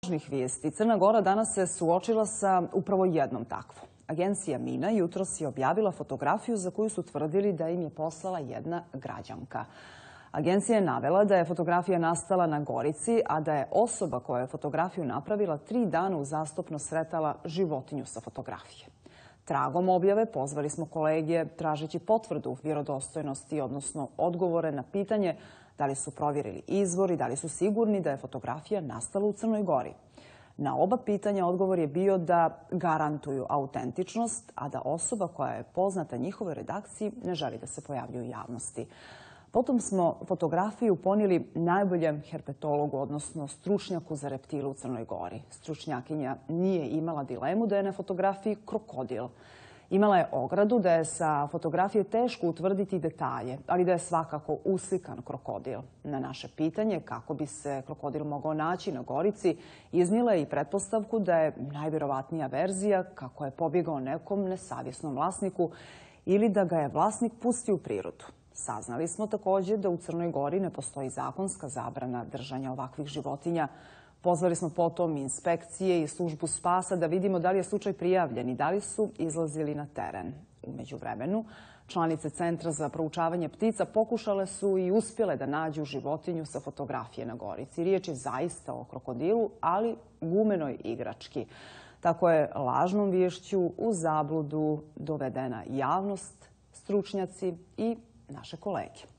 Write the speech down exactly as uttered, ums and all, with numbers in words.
Važnih vijesti. Crna Gora danas se suočila sa upravo jednom takvom. Agencija Mina jutros je objavila fotografiju za koju su tvrdili da im je poslala jedna građanka. Agencija je navela da je fotografija nastala na Gorici, a da je osoba koja je fotografiju napravila tri dana uzastopno sretala životinju sa fotografije. Tragom objave pozvali smo kolege tražeći potvrdu vjerodostojnosti, odnosno odgovore na pitanje da li su provjerili izvor i da li su sigurni da je fotografija nastala u Crnoj Gori. Na oba pitanja odgovor je bio da garantuju autentičnost, a da osoba koja je poznata njihovoj redakciji ne želi da se pojavljuje u javnosti. Potom smo fotografiju ponijeli najboljem herpetologu, odnosno stručnjaku za reptile u Crnoj Gori. Stručnjakinja nije imala dilemu da je na fotografiji krokodil. Imala je ogradu da je sa fotografije teško utvrditi detalje, ali da je svakako uslikan krokodil. Na naše pitanje kako bi se krokodil mogao naći na Gorici, iznijela je i pretpostavku da je najvjerovatnija verzija kako je pobjegao nekom nesavjesnom vlasniku ili da ga je vlasnik pustio u prirodu. Saznali smo također da u Crnoj Gori ne postoji zakonska zabrana držanja ovakvih životinja. Pozvali smo potom inspekcije i službu spasa da vidimo da li je slučaj prijavljen i da li su izlazili na teren. U međuvremenu, članice Centra za proučavanje ptica pokušale su i uspjele da nađu životinju sa fotografije na Gorici. Riječ je zaista o krokodilu, ali gumenoj igrački. Tako je lažnom viješću u zabludu dovedena javnost, stručnjaci i naše kolege.